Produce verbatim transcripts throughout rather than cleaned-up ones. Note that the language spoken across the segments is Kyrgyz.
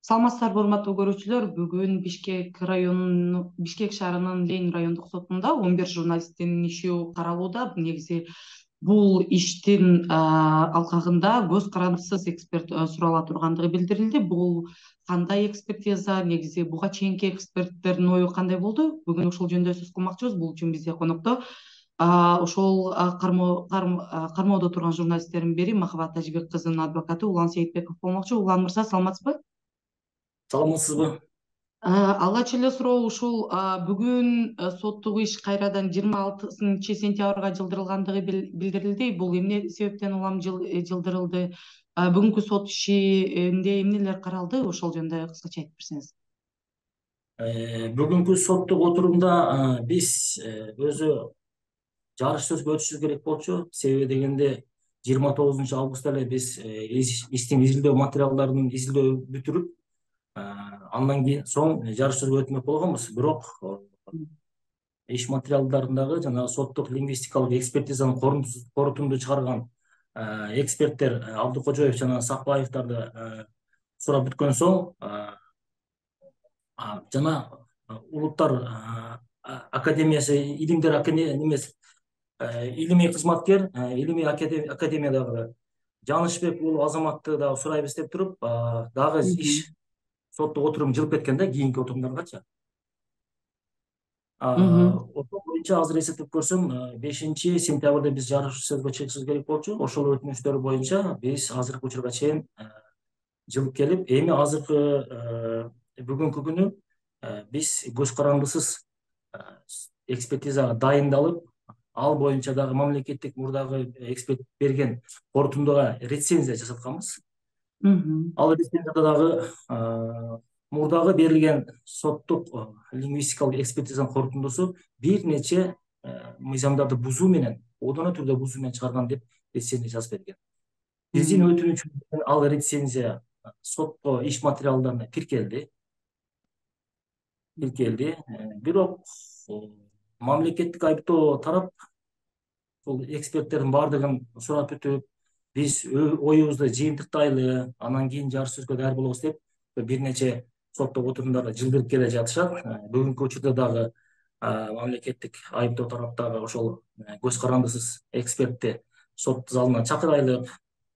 Саламатсыздарбы, урматтуу көрүүчүлөр. Бүгүн Бишкек районунун Бишкек шаарынын Ленин райондук сотунда он бир журналисттин иши каралууда. Негизи бул иштин алкагында көз карандысыз эксперт сурала тургандыгы билдирилди. Бул кандай экспертиза, негизи буга чейинки эксперттердин ою кандай болду? Бүгүн ушул жөнүндө сөз кылмакчыбыз. Бул үчүн бизде конокто ошол кармоодо турган журналисттердин бири Махабат Тажибек кызынын адвокаты Улан Сейитбеков болмокчу. Улан мырза, саламатсызбы? Саламатсызбы? Алгач эле суроо ушул: бүгүн соттук иш кайрадан жыйырма алтынчы сентябрга жылдырылгандыгы билдирилди. Бул эмне себептен улам жылдырылды? Бүгүнкү сот ишинде эмнелер каралды? Ошол жөнүндө кыскача айтып берсеңиз. Бүгүнкү соттук отурумда биз өзү жарыш сөзгө өтүшүбүз керек болчу. Себеби дегенде жыйырма тогузунчу августта эле биз иштин изилдөө материалдарын изилдөө бүтүрүп, андан кийин соң жарыш сөзгө өтмөк болгонбуз. Бирок иш материалдарындагы жанагы соттук лингвистикалык экспертизанын корутунду чыгарган эксперттер Абдыкожоев жана Сакбаевдарды сурап бүткөн соң, жана Улуттар академиясы илимдер немес илимий кызматкер илимий академиядагы Жанышбек уулу Азаматты дагы сурайбыз деп туруп, дагы иш соттук отурум жылып кеткен да кийинки отурумдаргачы. Ошол боюнча азыр эсептеп көрсөм, бешинчи сентябрда биз жарыш сөзгө чыгышыбыз керек болчу. Ошол өтүнүчтөр боюнча биз азыркы учурга чейин жылып келип, эми азыркы бүгүнкү күнү биз көз карандысыз экспертизага дайындалып, ал боюнча дагы мамлекеттик мурдагы эксперт берген корутундуга рецензия жасатканбыз. Ал рецензияда дагы мурдагы берилген соттук лингвистикалык экспертизанын корутундусу бир нече мыйзамдарды бузуу менен, одоно түрдө бузуу менен чыгарган деп рецензия жазып берген. Биздин өтүнүчүбүз ал рецензия сотко иш материалдарына тиркелди. Тиркелди. Бирок мамлекеттик айыптоо тарап бул эксперттердин баардыгын сурап бүтүп, биз оюбузду жыйынтыктайлы, анан кийин жарыш сөзгө даяр болобуз деп бир нече соттук отурумдарда жылдырып келе жатышат. Бүгүнкү учурда дагы мамлекеттик айыптоо тараптагы ошол көз карандысыз экспертти сот залына чакырайлык,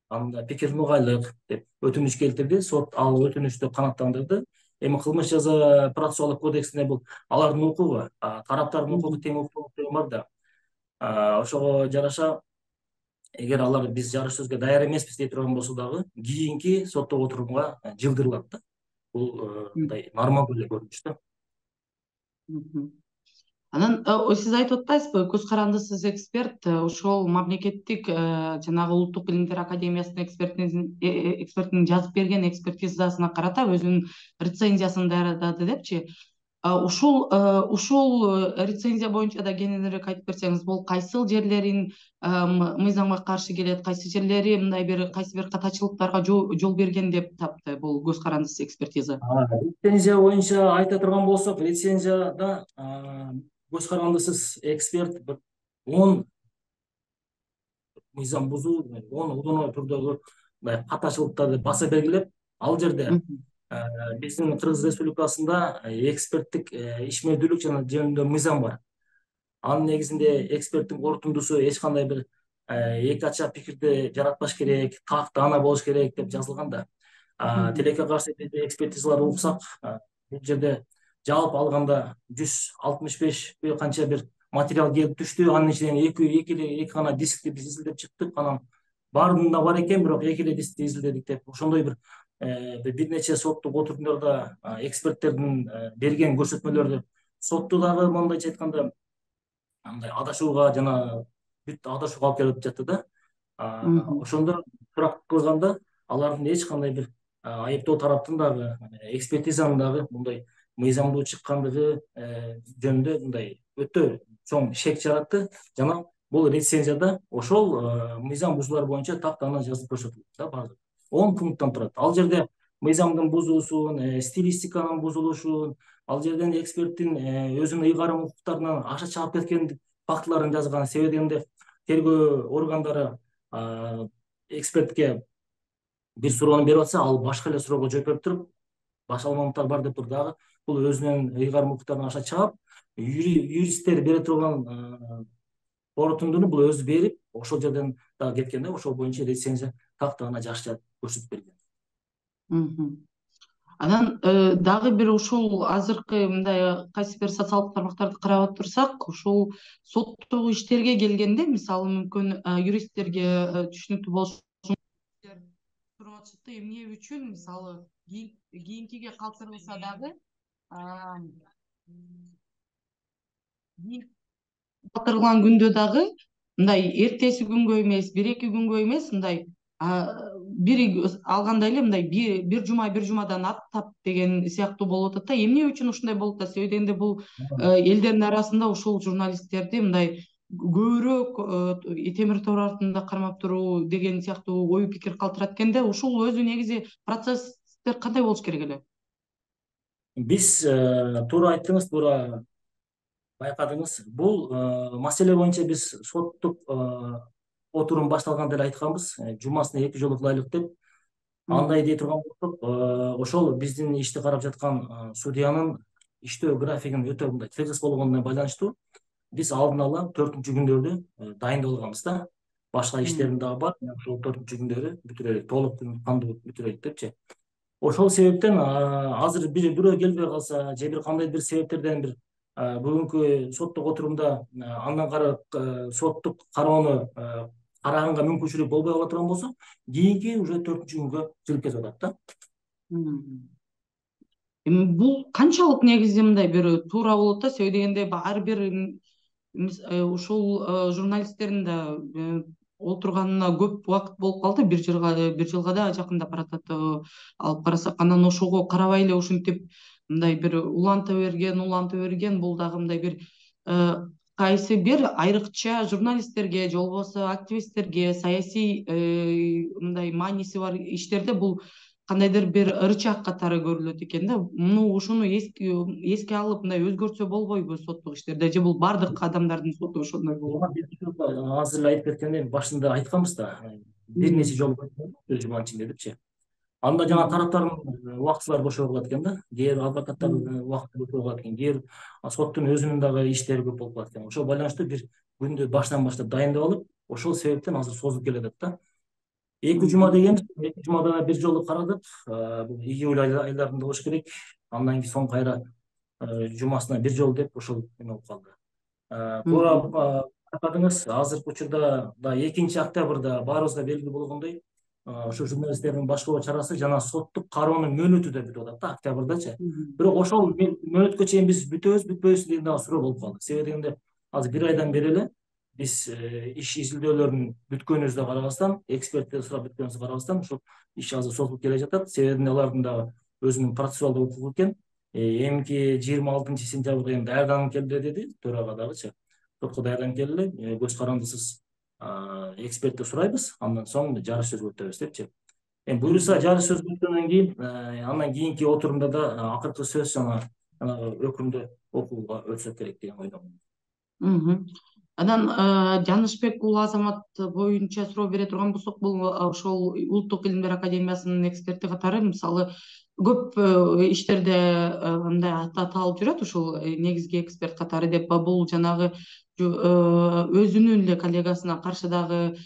анда пикирин угайлык деп өтүнүч келтирди. Сот ал өтүнүчтү канааттандырды. Эми кылмыш жаза процессуалдык кодексинде бул алардын укугу, тараптардын укугу тең укук деген бар да. Ошого жараша, эгер алар биз жарыш сөзгө даяр эмеспиз дей турган болсо дагы, кийинки соттук отурумга жылдырылат да. Бул мындай нормалдуу эле көрүнүш да. Анан сиз айтып атпайсызбы, көз карандысыз эксперт ошол мамлекеттик жанагы Улуттук илимдер академиясынын экспертинин жазып берген экспертизасына карата өзүнүн рецензиясын даярдады депчи. Ушул ушул рецензия боюнча да кененирээк айтып берсеңиз, бул кайсыл жерлерин мыйзамга каршы келет, кайсы жерлери мындай бир кайсы бир катачылыктарга жол берген деп тапты бул көз карандысыз экспертиза? Рецензия боюнча айта турган болсок, рецензияда көз карандысыз эксперт он мыйзам бузуу, он одоно түрдөгү катачылыктарды баса белгилеп, ал жерде биздин Кыргыз Республикасында эксперттик ишмердүүлүк жөнүндө мыйзам бар. Анын негизинде эксперттин корутундусу эч кандай бир эки ача пикирди жаратпаш керек, так даана болуш керек деп жазылган да. Тилекке каршы экспертизаларды уксак, бул жерде жалпы алганда жүз алтымыш беш канча бир материал келип түштү. Анын ичинен эки эки гана дискти биз изилдеп чыктык. Анан баарында бар экен, бирок эки эле дискти изилдедик деп ошондой бир бир нече соттук отурумдарда эксперттердин берген көрсөтмөлөрдү сотту дагы мондойча айтканда андай адашууга жана бүт адашууга алып келип жатты да. Ошондо сурак кылганда алардын эч кандай бир айыптоо тараптын дагы экспертизанын дагы мындай мыйзамдуу чыккандыгы жөнүндө мындай өтө чоң шек жаратты. Жана бул рецензияда ошол мыйзам бузуулар боюнча так даана жазып көрсөтүлдү да, баардыгы он пункттан турат. Ал жерде мыйзамдын бузуусун, стилистиканын бузулушун, ал жерден эксперттин өзүнүн ыйгарым укуктарынан аша чыгып кеткен фактыларын жазган. Себеби дегенде тергөө органдары экспертке бир суроону берип атса, ал башка эле суроого жооп берип туруп, башка момунттар бар деп туруп дагы бул өзүнүн ыйгарым укуктарын аша чаап, юристтер бере турган корутундуну бул өзү берип, ошол жерден дагы кеткен да, ошол боюнча рецензия так гана жакшы көрсөтүп берген. Анан дагы бир ушул азыркы мындай кайсы бир социалдык тармактарды карап отурсак, ушул соттогу иштерге келгенде, мисалы мүмкүн юристтерге түшүнүктүү болушу туруп атышат, эмне үчүн мисалы кийинкиге калтырылса дагы калтырылган күндө дагы мындай эртеси күнгө эмес, бир эки күнгө эмес, мындай бир алганда эле мындай бир жума бир жумадан аттап деген сыяктуу болуп атат да. Эмне үчүн ушундай болуп атат? Себеби дегенде бул элдердин арасында ушул журналисттерди мындай көбүрөөк темир тор артында кармап туруу деген сыяктуу ой пикир калтырат экен да. Ушул өзү негизи процесстер кандай болуш керек эле? Биз туура айттыңыз, туура байкадыңыз. Бул маселе боюнча биз соттук отурум башталганда эле айтканбыз, жумасына эки жолу кылайлык деп. Андай дей турган болсок, ошол биздин ишти карап жаткан судьянын иштөө графигин өтө мындай тыгыз болгонуна байланыштуу биз алдын ала төртүнчү күндөрдү дайындап алганбыз да. Башка иштерим дагы бар, ошол төртүнчү күндөрү бүтүрөлүк, толук кандуу бүтүрөлүк депчи. Ошол себептен азыр бир бирөө келбей калса же бир кандай бир себептерден бир бүгүнкү соттук отурумда андан кары соттук кароону караганга мүмкүнчүлүк болбой кала турган болсо, кийинки уже төртүнчү күнгө жылып кетип атат да. Эми бул канчалык негизи мындай бир туура болот да, себеби дегенде ар бир ушул журналисттердин да олтурганына көп убакыт болуп калды, бир жылга бир жылга да жакындап баратат алып карасак. Анан ошого карабай эле ушинтип мындай бир уланта берген, уланта берген бул дагы мындай бир кайсы бир айрыкча журналисттерге же болбосо активисттерге, саясий мындай мааниси бар иштерде бул кандайдыр бир ырычак катары көрүлөт экен да. Муну ушуну эске алып мындай өзгөртсө болбойбу соттук иштерде, же бул бардык адамдардын соту ошондой болот? Азыр эле айтып кеткендей, башында айтканбыз да, бир нече жолу бир жуманын ичинде депчи. Анда жана тараптардын убактылары бошой калат экен да, кээ бир адвокаттардын убакыты бошой калат экен, кээ бир соттун өзүнүн дагы иштери көп болуп калат экен. Ошого байланыштуу бир күндү баштан баштап дайындап алып, ошол себептен азыр созулуп келатат да. Эки жума деген, эки жумада бир жолу карадык, бул июль айларында болуш керек. Андан кийин соң кайра жумасына бир жолу деп ошол эме болуп калды. Туура байкадыңыз, азыркы учурда да экинчи октябрда баарыбызга белгилүү болгондой, ошо журналисттердин башкаруу чарасы жана соттук кароонун мөөнөтү да бүтүп атат да, октябрдачы. Бирок ошол мөөнөткө чейин биз бүтөбүз, бүтпөйбүз деген дагы суроо болуп калды. Себеби дегенде азыр бир айдан бери эле биз иш изилдөөлөрүн бүткөнүбүздү карабастан, эксперттерди сурап бүткөнүбүздү карабастан, ошол иш азыр созулуп келе жатат. Себеби алардын дагы өзүнүн процессуалдык укугу экен. Эмки жыйырма алтынчы сентябрда эми даярданып келди деди төрага дагычы. Сотко даярданып келди, көз карандысыз экспертти сурайбыз, андан соң жарыш сөзгө өтөбүз депчи. Эми буюрса жарыш сөзгө өткөндөн кийин, андан кийинки отурумда да акыркы сөз жана өкүмдү окууга өтсөк керек деген ойдомун. Анан Жанышбек уулу Азамат боюнча суроо бере турган болсок, бул ошол Улуттук илимдер академиясынын эксперти катары мисалы көп иштерде мындай ат аталып жүрөт, ушул негизги эксперт катары деп. Бул жанагы өзүнүн эле коллегасына каршы дагы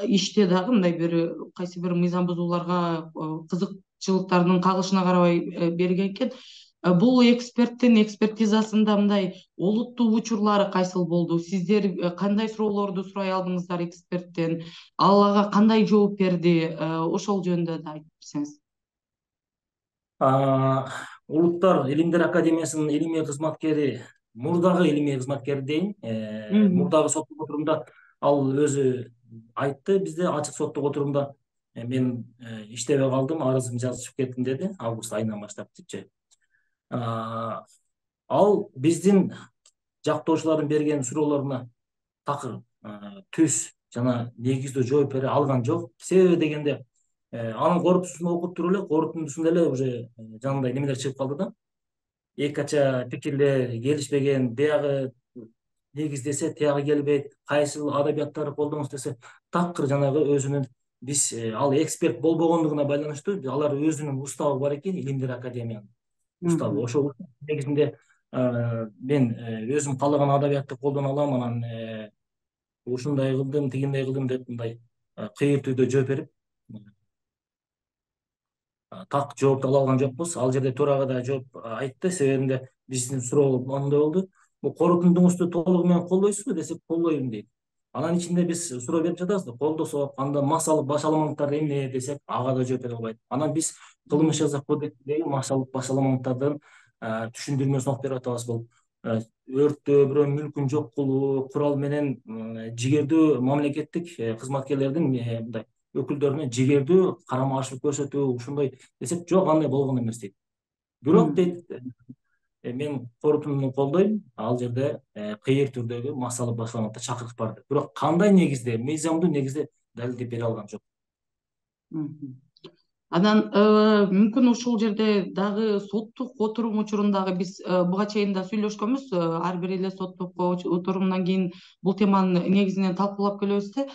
иште дагы мындай бир кайсы бир мыйзам бузууларга кызыкчылыктарынын кагылышына карабай берген экен. Бул эксперттин экспертизасында мындай олуттуу учурлары кайсыл болду? Сиздер кандай суроолорду сурай алдыңыздар эксперттен? Ал ага кандай жооп берди? Ошол жөнүндө да айтып берсеңиз. Улуттар илимдер академиясынын илимий кызматкери, мурдагы илимий кызматкери дейин, мурдагы соттук отурумда ал өзү айтты, бизде ачык соттук отурумда мен иштебей калдым, арызымды жазышып кеттим деди, август айынан баштап депчи. Ал биздин жактоочулардын берген суроолоруна такыр, түз жана негиздүү жооп бере алган жок. Себеби дегенде анын корутундусун окуп туруп эле, корутундусунда эле уже жанагындай немелер чыгып калды да. Эки кача пикирлер келишпеген, биягы негиздесе, тиягы келбейт, кайсыл адабияттарды колдонуңуз десе, такыр жанагы өзүнүн биз ал эксперт болбогондугуна байланыштуу алар өзүнүн уставы бар экен, Илимдер академиянын уставы. Ошол негизинде мен өзүм каалаган адабиятты колдоно алам, анан ушундай кылдым, тигиндей кылдым деп мындай кыйыр түрдө жооп берип так жооп ала алган жокпуз. Ал жерде Турага да жооп айтты. Себебинде биздин суроо моундай болду: бул корутундуңузду толугу менен колдойсузбу десек, колдойм дейт. Анан ичинде биз суроо берип жатабыз да, колдосок анда массалык башаламалыктар эмне десек, ага да жооп бере албайт. Анан биз кылмыш жаза кодексиндеги массалык башаламалыктардын түшүндүрмөсүн окуп берип атабыз. Бул өрттөө, бирөөнүн мүлкүн жок кылуу, курал менен жигердүү мамлекеттик кызматкерлердин мындай өкүлдөрүнө жигердүү карама каршылык көрсөтүү, ушундай десек, жок, андай болгон эмес дейт. Бирок дейт, мен корутундуну колдойм, ал жерде кыйыр түрдөгү массалык башаламалыкта чакырык бар деп. Бирок кандай негизде, мыйзамдуу негизде далилдеп бере алган жок. Анан мүмкүн ушул жерде дагы соттук отурум учурундагы биз буга чейин да сүйлөшкөнбүз. Ар бир эле соттук отурумдан кийин бул теманы негизинен талкуулап келебиз да.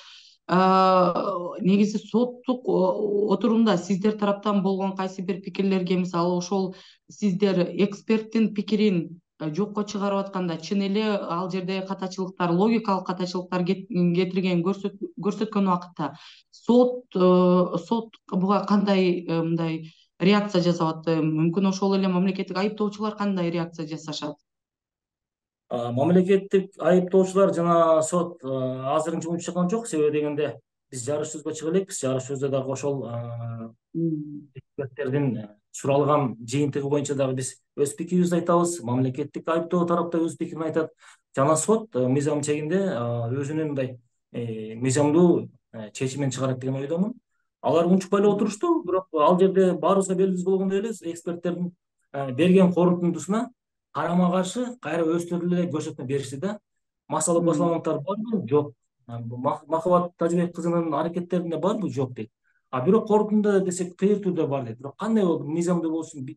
Негизи соттук отурумда сиздер тараптан болгон кайсы бир пикирлерге, мисалы ошол сиздер эксперттин пикирин жокко чыгарып атканда чын эле ал жерде катачылыктар, логикалык катачылыктар кетирген көрсөткөн убакытта сот сот буга кандай мындай реакция жасап атты? Мүмкүн ошол эле мамлекеттик айыптоочулар кандай реакция жасашат? Мамлекеттик айыптоочулар жана сот азырынча умуш чыккан жок. Себеби дегенде биз жарыш сөзгө чыга элекпиз. Жарыш сөздө дагы ошол эксперттердин суралган жыйынтыгы боюнча дагы биз өз пикирибизди айтабыз. Мамлекеттик айыптоо тарап да өз пикирин айтат. Жана сот мыйзам чегинде өзүнүн мындай мыйзамдуу чечимин чыгарат деген ойдомун. Алар унчукпай эле отурушту, бирок ал жерде баарыбызга белгилүү болгондой эле эксперттердин берген корутундусуна карама каршы кайра өздөрү эле көрсөтмө беришти да. Массалык башаламалыктар барбы? Жок. Махабат Тажыбек кызынын аракеттеринде барбы? Жок дейт. А бирок корутунда десек кыйыр түрдө бар дейт. Бирок кандай болду? Мыйзамда болсун,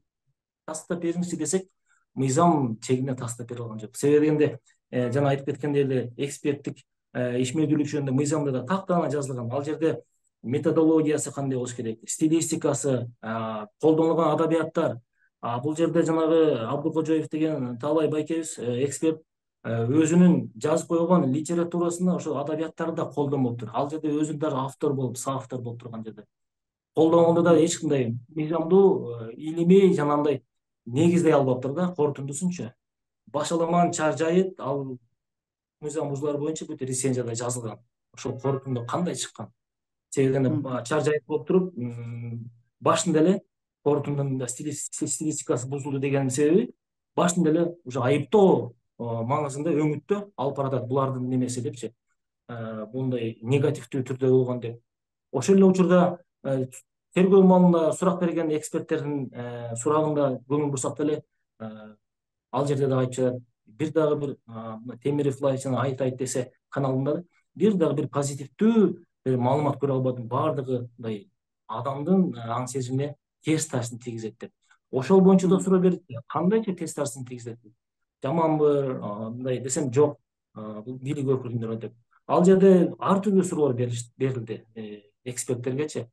тастап бериңизчи десек, мыйзам чегинде тастап бере алган жок. Себеби дегенде жана айтып кеткендей эле эксперттик ишмердүүлүк жөнүндө мыйзамда да тактана жазылган. Ал жерде методологиясы кандай болуш керек, стилистикасы, колдонулган адабияттар. Бул жерде жанагы Абдыкожоев деген Таалай байкебиз эксперт өзүнүн жазып койгон литературасына ошо адабияттарды да колдонмоптур. Ал жерде өзү дагы автор болуп, соавтор болуп турган жерде. Колдонгондо да эч кандай мыйзамдуу, илимий жана мындай негиздей албаптыр да корутундусунчу. Башаламанын чар жайы ал мыйзам бузуулар боюнча бүт рецензияда жазылган. Ошол корутунду кандай чыккан? Себебинде чар жайыт болуп туруп, башында эле корутундун стилистикасы бузулду деген себеби башында эле уже айыптоо маңызында өңүттө алып баратат булардын немеси депчи, мындай негативдүү түрдө болгон деп. Ошол эле учурда тергөө маалында сурак берген эксперттердин сурагында көңүл бурсак деле ал жерде да айтып жатат. Бир дагы бир Темиров Лайф жана Айт айт десе каналында бир дагы бир позитивдүү маалымат көрө албадым. Баардыгы мындай адамдын аң сезимине терс таасирин тийгизет деп. Ошол боюнча да суроо берди. Кандайча терс таасирин тийгизет? Жаманбы, мындай десем жок, бул бийлик өкүлдөрү деп. Ал жерде ар түрдүү суроолор берилди эксперттергечи.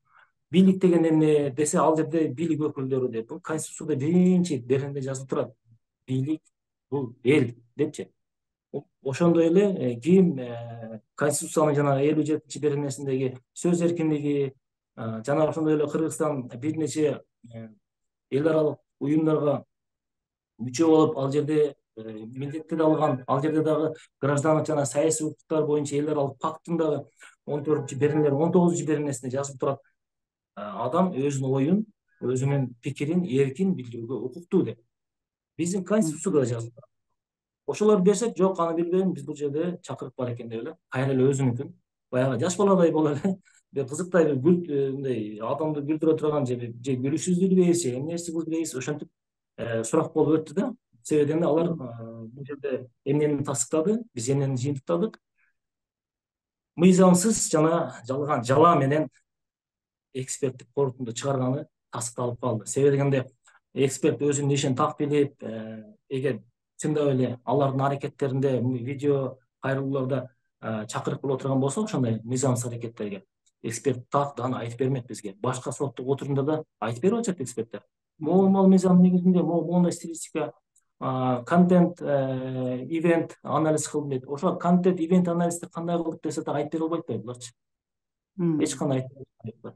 Бийлик деген эмне десе, ал жерде бийлик өкүлдөрү деп. Бул Конституцияда биринчи беренде жазылып турат. Бийлик бул эл депчи. Ошондой эле ким Конституциянын жана элүү жетинчи беренесиндеги сөз эркиндиги жана ошондой эле Кыргызстан бир нече эл аралык уюмдарга мүчө болуп, ал жерде милдеттер алган, ал жерде дагы граждандык жана саясий укуктар боюнча эл аралык пакттын дагы он төртүнчү беренелер, он тогузунчу беренесинде жазылып турат. Адам өзүнүн оюн, өзүнүн пикирин эркин билдирүүгө укуктуу деп. Биздин Конституцияда да жазылып турат. Ошолор берсек, жок, аны билбейм, биз бул жерде чакырык бар экен деп эле, кайра эле өзүнүкүн баягы жаш баладай болуп эле, бир кызыктай бир гүл мындай адамды күлдүрө турган же же күлүшсүздүрбейбиз, же эмнеси кылбайбыз, ошентип сурак болуп өттү да. Себебинде алар бул жерде эмнени тастыктады, биз эмнени жыйынтыктадык? Мыйзамсыз жана жалган жала менен эксперттик корутунду чыгарганы тастыкталып калды. Себеби дегенде эксперт өзүнүн ишин так билип, эгер чындап эле алардын аракеттеринде видео кайрылууларда чакырык боло турган болсо, ошондой мыйзамсыз аракеттерге эксперт так даана айтып бермек бизге. Башка соттук отурумдарда айтып берип атышат эксперттер. Могул мыйзам негизинде моундай стилистика, контент, ивент анализ кылдым дейт. Ошо контент, ивент анализди кандай кылдык десе да айтып бере албайт да буларчы. Эч кандай айтып бере албайт.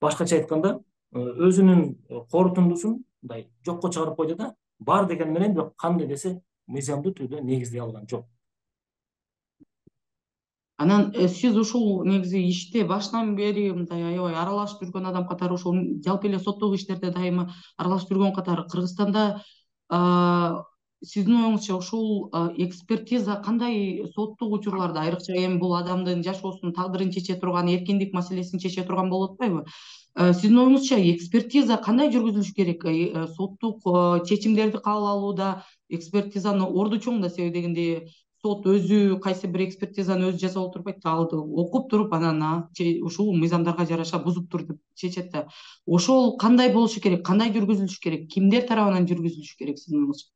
Башкача айтканда, өзүнүн корутундусун мындай жокко чыгарып койду да, бар деген менен, бирок кандай десе мыйзамдуу түрдө негиздей алган жок. Анан сиз ушул негизи иште баштан бери мындай аябай аралашып жүргөн адам катары, ошол жалпы эле соттук иштерде дайыма аралашып жүргөн катары, Кыргызстанда сиздин оюңузча ушул экспертиза кандай соттук учурларда, айрыкча эми бул адамдын жашоосунун тагдырын чече турган, эркиндик маселесин чече турган болуп атпайбы? Сиздин оюңузча экспертиза кандай жүргүзүлүш керек? Соттук чечимдерди кабыл алууда экспертизаны орду чоң да, себеби дегенде сот өзү кайсы бир экспертизаны өзү жасап отурбайт, ал окуп туруп анан ушул мыйзамдарга жараша бузуптур деп чечет да. Ошол кандай болушу керек, кандай жүргүзүлүш керек, кимдер тарабынан жүргүзүлүш керек сиздин оюңузча?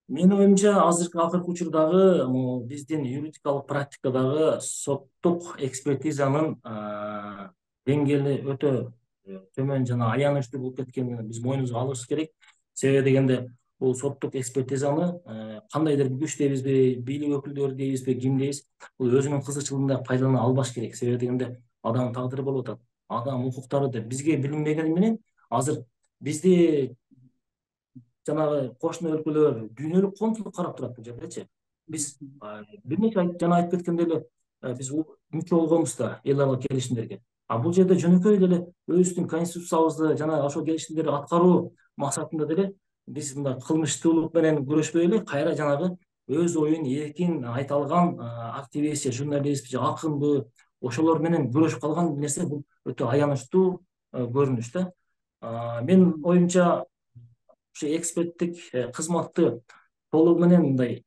Менин оюмча азыркы акыркы учурдагы биздин юридикалык практикадагы соттук экспертизанын деңгээли өтө төмөн жана аянычтуу болуп кеткенин биз мойнубузга алышыбыз керек. Себеби дегенде бул соттук экспертизаны кандайдыр күч дейбизби, бийлик өкүлдөрү дейбизби, ким дейбиз, бул өзүнүн кызыкчылыгында пайдалана албаш керек. Себеби дегенде адамдын тагдыры болуп атат. Адам укуктары да бизге билинбегени менен азыр бизди жанагы кошуна өлкөлөр дүйнөлүк коомчулук карап турат бул жердечи. Биз бир нече жана айтып кеткендей эле биз мүчө болгонбуз да эл аралык келишимдерге. А бул жерде жөнөкөй эле өзүбүздүн конституциябызды жана ошол келишимдерди аткаруу максатында деле биз мындай кылмыштуулук менен күрөшпөй эле кайра жанагы өз оюн эркин айта алган активист же журналист же акынбы ошолор менен күрөшүп калган нерсе бул өтө аянычтуу көрүнүш да. Менин оюмча ушу эксперттик кызматты толугу менен мындай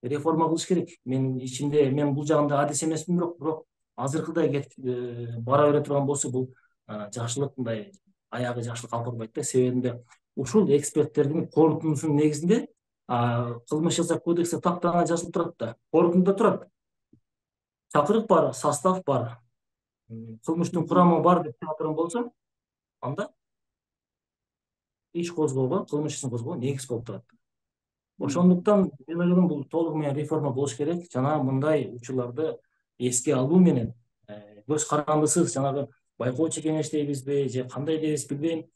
реформа кылыш керек. Менин ичимде мен бул жагында адис эмесмин, бирок бирок азыркыдай кетип бара бере турган болсо бул жакшылык мындай аягы жакшылык алып барбайт да. Себебинде ушул эксперттердин корутундусунун негизинде кылмыш жаза кодексте так даана жазылып турат да. Корутундуда турат. Чакырык бар, состав бар, кылмыштын курамы бар деп чыга турган болсо, анда иш козгоого, кылмыш ишин козгоого негиз болуп турат. Ошондуктан мен ойлойм бул толугу менен реформа болуш керек. Жана мындай учурларды эске алуу менен көз карандысыз жанагы байкоочу кеңеш дейбизби же кандай дейбиз билбейм,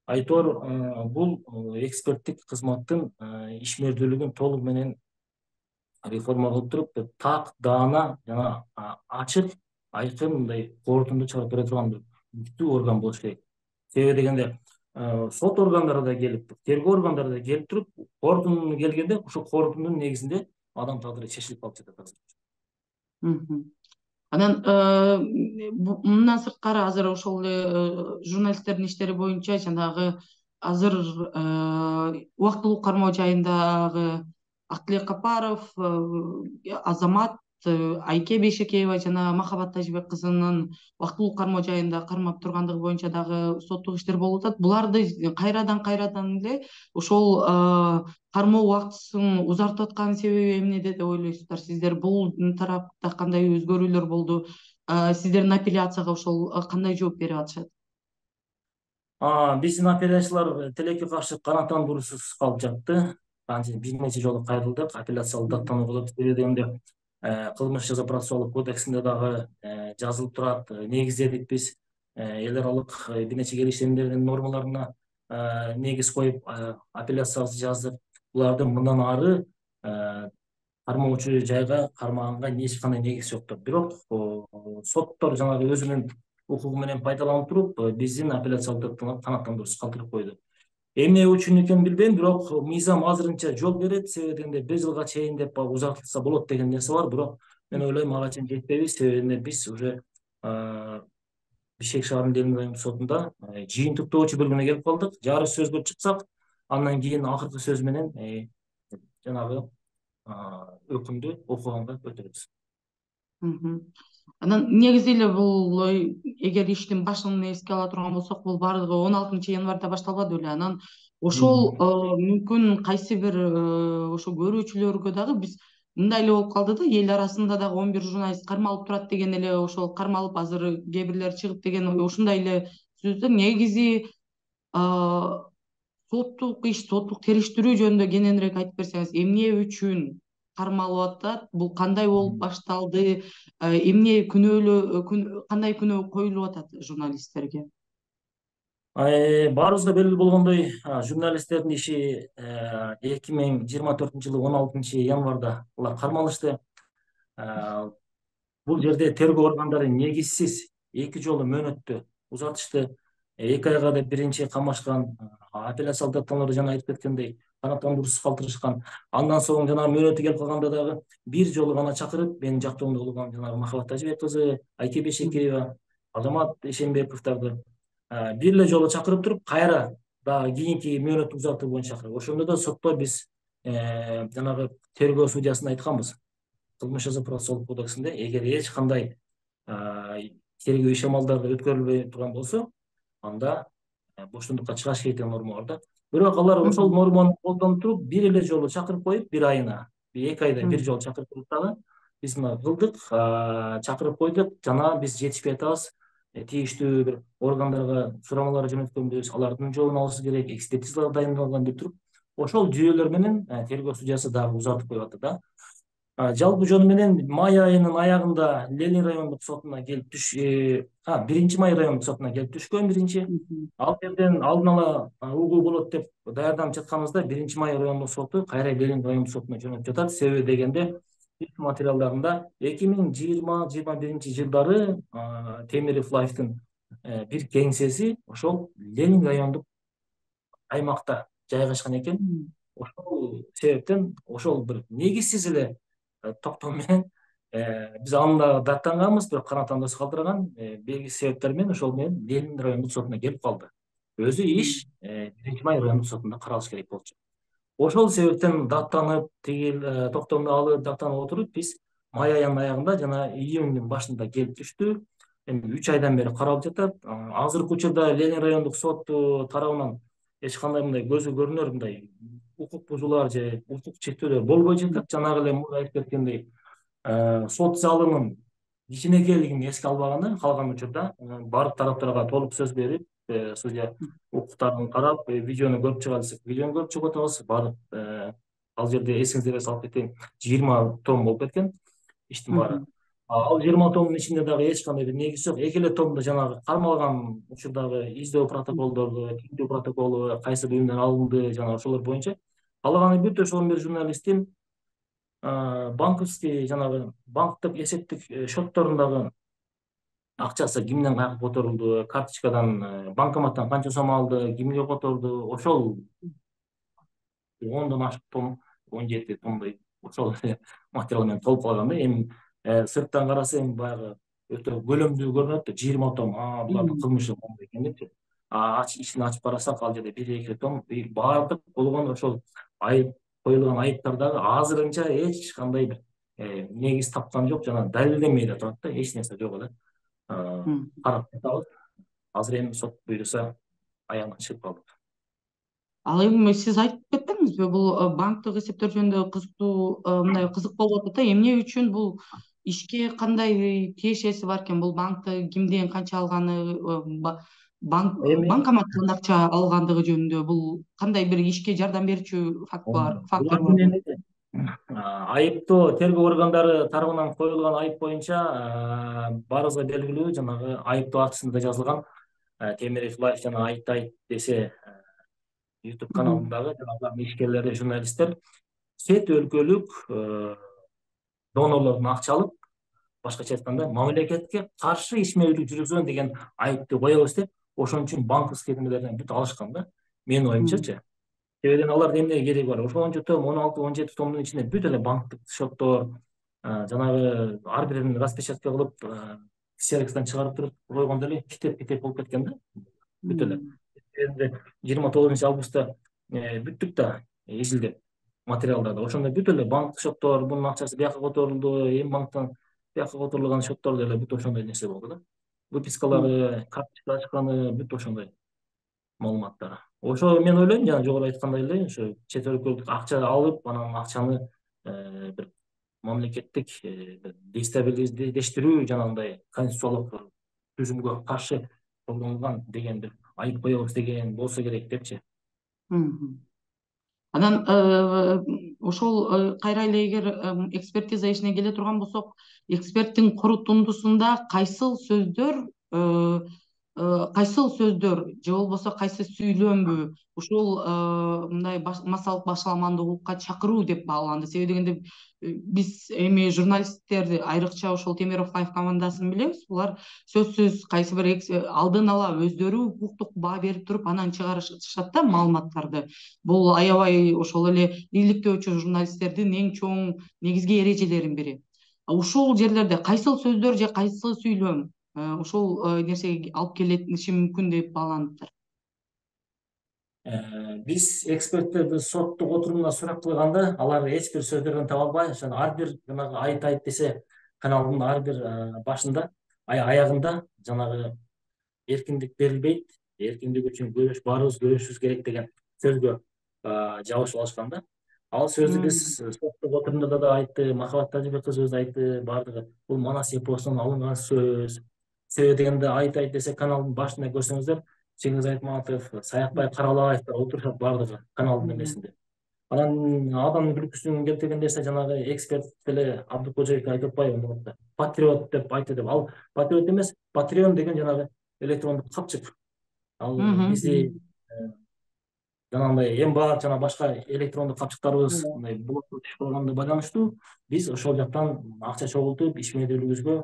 айтор бул эксперттик кызматтын ишмердүүлүгүн толугу менен реформа кылып туруп, так даана жана ачык, айкын мындай корутунду чыгарып бере турган күчтүү орган болуш керек. Себеби дегенде сот органдары да келип, тергөө органдары да келип туруп, корутунду келгенде ошол корутундун негизинде адам тагдыры чечилип калып жатат азыр. Анан мындан сырткары азыр ошол эле журналисттердин иштери боюнча жанагы азыр убактылуу кармоо жайындагы Актилек Капаров, Азамат, Айке Бейшекеева жана Махабат Тажибек кызынын убактылуу кармоо жайында кармап тургандыгы боюнча дагы соттук иштер болуп атат. Буларды кайрадан кайрадан эле ошол кармоо убактысын узартып аткан себеби эмнеде деп ойлойсуздар сиздер? Бул тарапта кандай өзгөрүүлөр болду? Сиздердин апелляцияга ошол кандай жооп берип атышат? Биздин апелляциялар тилекке каршы канааттандыруусуз калып жатты. Бир нече жолу кайрылдык, апелляциялык даттануу болот. Себеби дегенде кылмыш жаза процессуалдык кодексинде дагы жазылып турат, негиздедик биз эл аралык бир нече келишимдердин нормаларына негиз коюп апелляциябызды жаздык. Булардын мындан ары кармоочу жайга кармаганга эч кандай негиз жоктур. Бирок соттор жанагы өзүнүн укугу менен пайдаланып туруп, биздин апелляциялык даттанууну канааттандыруусуз калтырып койду. Эмне үчүн экенин билбейм, бирок мыйзам азырынча жол берет. Себеби дегенде бир жылга чейин деп узартылса болот деген нерсе бар, бирок мен ойлойм ага чейин жетпейбиз. Себеби биз уже Бишкек шаардын демир райондук сотунда жыйынтыктоочу бөлүмүнө келип калдык. Жарыш сөзгө чыксак, андан кийин акыркы сөз менен жанагы өкүмдү окуганга өтөбүз. Анан негизи эле бул эгер иштин башын эске ала турган болсок, бул баардыгы он алтынчы январда башталбады беле. Анан ошол мүмкүн кайсы бир ошо көрүүчүлөргө дагы биз мындай эле болуп калды да, эл арасында дагы он бир журналист кармалып турат деген эле, ошол кармалып азыр кээ бирлери чыгып деген ушундай эле сөздөр негизи соттук иш, соттук териштирүү жөнүндө кененирээк айтып берсеңиз, эмне үчүн кармалып атат, бул кандай болуп башталды, эмне күнөөлөө кандай күнөө коюлуп атат журналисттерге? Баарыбызга белгилүү болгондой, журналисттердин иши эки миң жыйырма төртүнчү жылы он алтынчы январда алар кармалышты. Бул жерде тергөө органдары негизсиз эки жолу мөөнөттү узатышты. Эки айга да биринчи камашкан, апелляциялык даттанууларда жана айтып кеткендей канааттандыруусуз калтырышкан. Андан соң жана мөөнөтү келип калганда дагы бир жолу гана чакырып, менин жактоомдо болгон жанагы Махабат Тажыбек кызы, Айке Бейшекеева, Азамат Эшенбековдорду бир эле жолу чакырып туруп, кайра дагы кийинки мөөнөттү узартуу боюнча чакырып. Ошондо да сотто биз жанагы тергөө судьясына айтканбыз. Кылмыш жаза процессуалдык кодексинде эгер эч кандай тергөө иш амалдары өткөрүлбөй турган болсо, анда боштондукка чыгаш керек деген норма бар да. Бирок алар ошол норманы колдонуп туруп, бир эле жолу чакырып коюп, бир айына, эки айда бир жолу чакырып коюп дагы биз мына кылдык, чакырып койдук, жана биз жетишпей атабыз. Тийиштүү бир органдарга сурамалар жөнөткөнбүз, алардын жообун алышыбыз керек, экспертизалар дайындалган деп туруп, ошол жүйөлөр менен тергөө судьясы дагы узартып коюп атты да. Жалпы жөнү менен май айынын аягында Ленин райондук сотуна келип түш, биринчи май райондук сотуна келип түшкөн биринчи. Ал жерден алдын ала угуу болот деп даярданып жатканыбызда биринчи май райондук соту кайра Ленин райондук сотуна жөнөтүп жатат. Себеби дегенде иш материалдарында эки миң жыйырма жыйырма биринчи жылдары Темиров Лайфтын бир кеңсеси ошол Ленин райондук аймакта жайгашкан экен. Ошол себептен ошол бир негизсиз эле токтом менен биз анда даттанганбыз, бирок канааттандыруусуз калтырган белгисиз себептер менен ошол менен Ленин райондук сотуна келип калды. Өзү иш биринчи май райондук сотунда каралыш керек болчу. Ошол себептен даттанып, тиги токтомду алып, даттанып отуруп, биз май айынын аягында жана июндун башында келип түштү. Эми үч айдан бери каралып жатат. Азыркы учурда Ленин райондук соту тарабынан эч кандай мындай көзү көрүнөр мындай укук бузуулар же укук чектөөлөр болбой жатат. Жанагы эле мурда айтып кеткендей, сот залынын кичинекейлигин эске албаганы, калган учурда баардык тараптарга толук сөз берип, судья укуктарын карап, видеону көрүп чыга десек, видеону көрүп чыгып атабыз. Баардык ал жерде эсиңиздерге салып кетейин, жыйырма том болуп кеткен иштин баары. Ал жыйырма томдун ичинде дагы эч кандай бир негиз жок. Эки эле томдо жанагы кармалган учурдагы издөө протоколдорду, тинтүү протоколу, кайсы буюмдар алынды, жана ошолор боюнча. Калганы бүт ошол он бир журналисттин банковский, жанагы банктык эсептик счетторундагы акчасы кимден каяка которулду, карточкадан, банкоматтан канча сом алды, кимге которду, ошол ондон ашык том, он жети томдой ошол материал менен толуп калган да. Эми сырттан карасаң баягы өтө көлөмдүү көрүнөт да, жыйырма том, булардын кылмышы моундай экен депчи. Ичин ачып карасак, ал жерде бир эки том, баардык болгон ошол айып коюлган айыптар дагы азырынча эч кандай бир негиз тапкан жок, жана далилденбей да турат да, эч нерсе жок эле. Карап жатабыз. Азыр эми сот буйруса аягына чыгып калдык. Ал эми сиз айтып кеттиңизби, бул банктык эсептер жөнүндө кызыктуу, мындай кызык болуп атат да, эмне үчүн бул ишке кандай тиешеси бар экен, бул банкты кимден канча алганы, банкоматтан акча алгандыгы жөнүндө, бул кандай бир ишке жардам берүүчү фактор барбы? Айыптоо тергөө органдары тарабынан коюлган айып боюнча баарыбызга белгилүү, жанагы айыптоо актысында жазылган Темиров Лайф жана Айтты айт десе YouTube каналындагы жанагы ишкерлери, журналисттер чет өлкөлүк донорлордун акча алып, башкача айтканда мамлекетке каршы ишмердүүлүк жүргүзгөн деген айыпты коебуз деп, ошон үчүн банковский немелерден бүт алышкан да, менин оюмчачы. Себебен аларда эмне кереги бар? Ошончо том, он алты он жети томдун ичинде бүт эле банктык счеттор, жанагы ар бирин распечатка кылып, ксерокстан чыгарып туруп койгондо эле китеп-китеп болуп кеткен да, бүт эле. Эми жыйырма тогузунчу августта бүттүк да изилдеп материалдарды. Ошондо бүт эле банктык счеттор, бунун акчасы бияка которулду, эми банктан бияка которулган счеттор деле бүт ошондой нерсе болду да. Выпискалары, карточка ачканы, бүт ошондой маалыматтар. Ошо мен ойлойм, жана жогору айткандай эле, ошо чет өлкөлүк акча алып, анан акчаны бир мамлекеттик дестабилиздештирүү жанагындай конституциялык түзүмгө каршы колдонулган деген бир айып коебуз деген болсо керек депчи. Анан ошол кайра эле эгер экспертиза ишине келе турган болсок, эксперттин корутундусунда кайсыл сөздөр кайсыл сөздөр же болбосо кайсы сүйлөмбү ушул мындай массалык башаламандуулукка чакыруу деп бааланды. Себеби дегенде биз эми журналисттер, айрыкча ошол Темиров Лайф командасын билебиз. Булар сөзсүз кайсы бир алдын ала өздөрү укуктук баа берип туруп анан чыгарышат да маалыматтарды. Бул аябай ошол эле иликтөөчү журналисттердин эң чоң негизги эрежелеринин бири. Ушул жерлерде кайсыл сөздөр же кайсы сүйлөм ошол нерсеге алып келиши мүмкүн деп бааланыптыр. Биз эксперттерди соттук отурумда сурак кылганда алар эч бир сөздөрдөн таба албай, ошон ар бир жанагы айт айт десе каналдын ар бир башында, аягында жанагы эркиндик берилбейт, эркиндик үчүн күрөш, баарыбыз күрөшүбүз керек деген сөзгө жабышып алышкан да. Ал сөздү биз соттук отурумда да айтты, Махабат Тажыбек кызыбыз да айтты, баардыгы бул Манас эпосунан алынган сөз. Себеби дегенде айт айт десе каналдын башында көрсөңүздөр, Чеңиз Айтматов, Саякбай Каралаевдер отурушат баардыгы каналдын эмесинде. Анан адам күлкүсүн келтирген нерсе жанагы эксперт деле Абдыкожоевке айтып атпайбы, патриот деп айтты деп. Ал патриот эмес, Патреон деген жанагы электрондук капчык. Ал бизди жанагындай эң баат жана башка электрондук капчыктарыбыз мындай блокко түшүп калганына байланыштуу биз ошол жактан акча чогултуп ишмердүүлүгүбүзгө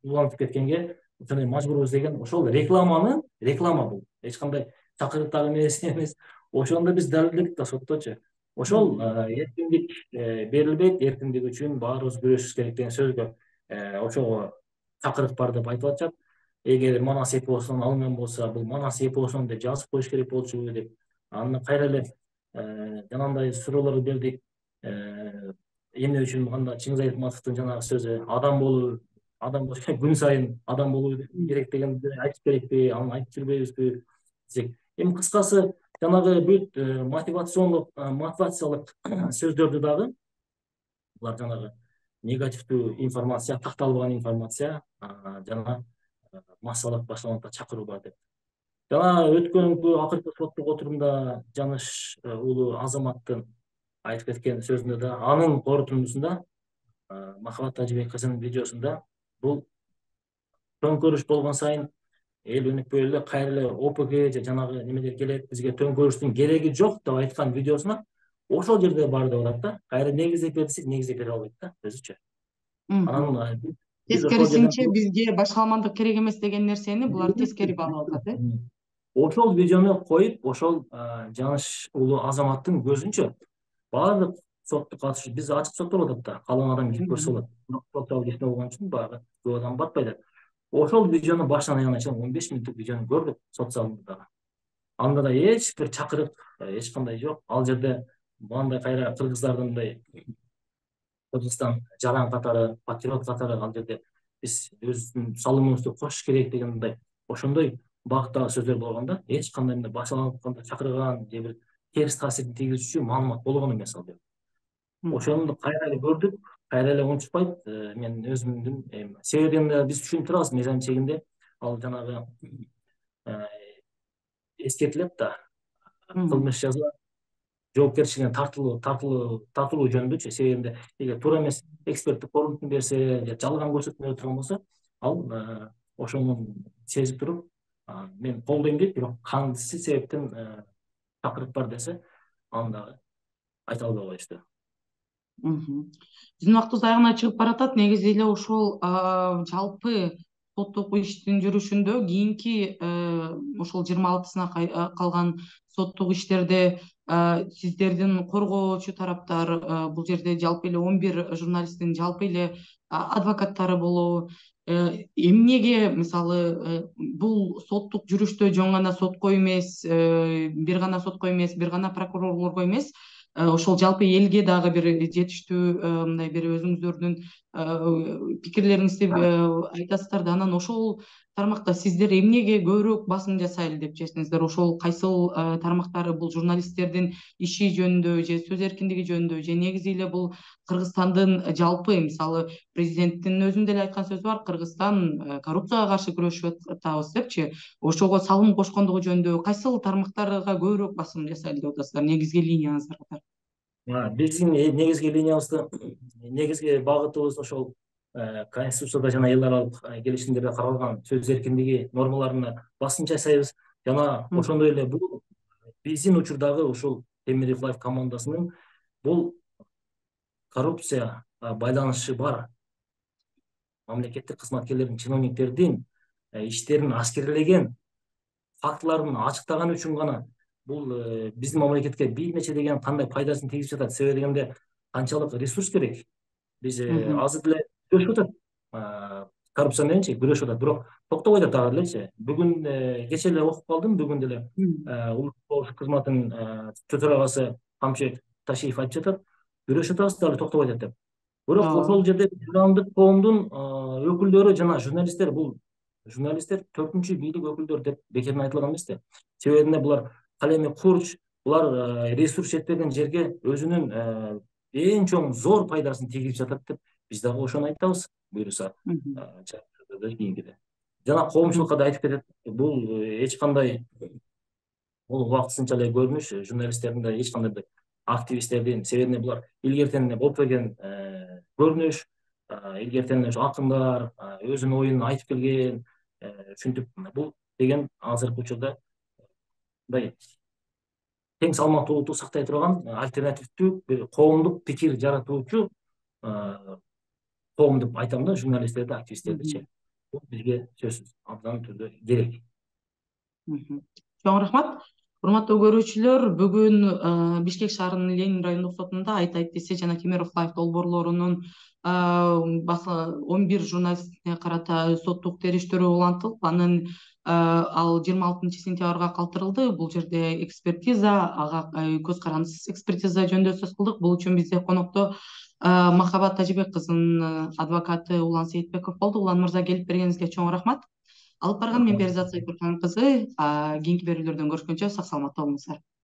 улантып кеткенге ошондой мажбурбуз деген ошол рекламаны, реклама бул эч кандай чакырыктагы эмес эмес. Ошондо биз далилдедик да сотточу. Ошол эркиндик берилбейт, эркиндик үчүн баарыбыз күрөшүбүз керек деген сөзгө ошого чакырык бар деп айтып атышат. Эгер Манас эпосунан алынган болсо, бул Манас эпосунан деп жазып коюш керек болчу деп. Аны кайра эле жанагындай суроолорду бердик. Эмне үчүн анда Чеңиз Айтматовдун жанагы сөзү адам болуу, адам күн сайын адам болуу керек дегенди айтып керекпи, аны айтып жүрбөйбүзбү десек. Эми кыскасы жанагы бүт мотивациондук, мотивациялык сөздөрдү дагы булар жанагы негативдүү информация, такталбаган информация жана массалык башаламандыкка чакыруу бар деп. Жана өткөнкү акыркы соттук отурумда Жаныш уулу Азаматтын айтып кеткен сөзүндө да анын корутундусунда Махабат Тажыбек кызынын видеосунда бул төңкөрүш болгон сайын эл өнүкпөй эле кайра эле ОПГ же жанагы немелер келет, бизге төңкөрүштүн кереги жок деп айткан видеосуна ошол жерде бар деп атат да. Кайра негиздеп бер десек негиздеп бере албайт да өзүчө. Анан тескерисинче бизге башаламандык керек эмес деген нерсени булар тескери баалап атат э. Ошол видеону коюп, ошол Жаныш уулу Азаматтын көзүнчө баардык соттук катышуу биз ачык соттолуп атат да, калган адам келип көрсө болот. Сот жабык иште болгон үчүн баягы көп адам батпайт. Ошол видеону башынан аягына чейин он беш мүнөттүк видеону көрдүк сот залында. Анда да эч бир чакырык эч кандай жок. Ал жерде мындай кайра кыргыздардын мындай Кыргызстан жаран катары, патриот катары ал жерде биз өзүбүздүн салымыбызды кошуш керек деген мындай ошондой багыттагы сөздөр болгондо эч кандай мындай башаламандыкка чакырган же бир терс таасирин тийгизүүчү маалымат болгон эмес ал жерде. Ошону кайра эле көрдүк, кайра эле унутпайт. Мен өзүмдүн себебин биз түшүнүп турабыз, мыйзам чегинде ал жанагы эскертилет да, кылмыш жаза жоопкерчилигине тартылуу тартылуу тартылуу жөнүндөчү. Себебинде эгер туура эмес эксперттик корунтун берсе же жалган көрсөтмө турган болсо, ал ошону сезип туруп мен колдойм дейт, бирок кандысы себептен чакырык бар десе, аны дагы айта албай коюшту. Биздин убактыбыз аягына чыгып баратат. Негизи эле ошол жалпы соттук иштин жүрүшүндө кийинки ошол жыйырма алтысына калган соттук иштерде сиздердин коргоочу тараптар, бул жерде жалпы эле он бир журналисттин жалпы эле адвокаттары болобу, эмнеге мисалы бул соттук жүрүштө жөн гана сотко эмес, бир гана сотко эмес, бир гана прокурорлорго эмес, ошол жалпы элге дагы бир жетиштүү мындай бир өзүңүздөрдүн пикирлериңизди айтасыздар да. Анан ошол тармакта сиздер эмнеге көбүрөөк басым жасайлы деп чечтиңиздер? Ошол кайсыл тармактары бул журналисттердин иши жөнүндө же сөз эркиндиги жөнүндө, же негизи эле бул Кыргызстандын жалпы, мисалы президенттин өзүнүн деле айткан сөзү бар, Кыргызстан коррупцияга каршы күрөшүп атабыз депчи. Ошого салым кошкондугу жөнүндө кайсыл тармактарга көбүрөөк басым жасайлы деп атасыздар, негизги линияңыздар катары? Биздин негизги линиябызды, негизги багытыбыз ошол Конституцияда жана эл аралык келишимдерде каралган сөз эркиндиги нормаларына басым жасайбыз. Жана ошондой эле бул биздин учурдагы ушул Темирбек Лайф командасынын бул коррупция байланышы бар мамлекеттик кызматкерлердин, чиновниктердин иштерин аскерлеген фактыларын ачыктаган үчүн гана бул биздин мамлекетке бир нече деген кандай пайдасын тийгизип жатат. Себеби дегенде канчалык ресурс керек. Биз азыр деле күрөшүп атат, коррупция мененчи күрөшүп атат, бирок токтобой атат дагы элечи. Бүгүн кече эле окуп калдым, бүгүн деле улуттук коопсуздук кызматынын төрагасы Камчыбек Ташиев айтып жатат, күрөшүп атабыз дагы токтобой атат деп. Бирок ошол жерде исламдык коомдун өкүлдөрү жана журналисттер, бул журналисттер төртүнчү бийлик өкүлдөрү деп бекерден айтылган эмес да. Себеби булар калеми курч, булар ресурс жетпеген жерге өзүнүн эң чоң зор пайдасын тийгизип жатат деп биз дагы ошону айтабыз. Буюрса кийинкиде жана коомчулукка да айтып кетет, бул эч кандай бул убактысынча эле көрүнүш, журналисттердин да эч кандай активисттердин, себебине булар илгертен эле болуп келген көрүнүш, илгертен эле акындар өзүнүн оюн айтып келген, ушинтип бул деген азыркы учурда мындай тең салмактуулукту сактай турган альтернативдүү бир коомдук пикир жаратуучу коом деп айтам да, журналисттерди, активисттердичи. Бул бизге сөзсүз абдан түрдө керек. Чоң рахмат. Урматтуу көрүүчүлөр, бүгүн Бишкек шаарынын Ленин райондук сотунда Айтай ТС жана Темиров Лайф долбоорлорунун он бир журналистине карата соттук териштирүү улантылып, анын ал жыйырма алтынчы сентябрга калтырылды. Бул жерде экспертиза, ага көз карандысыз экспертиза жөнүндө сөз кылдык. Бул үчүн бизде конокто Махабат Тажибек кызынын адвокаты Улан Сейитбеков болду. Улан мырза, келип бергениңизге чоң рахмат. Алып барган мен Перизат Сайпурхан кызы. Кийинки берүүлөрдөн көрүшкөнчө сак саламатта болуңуздар.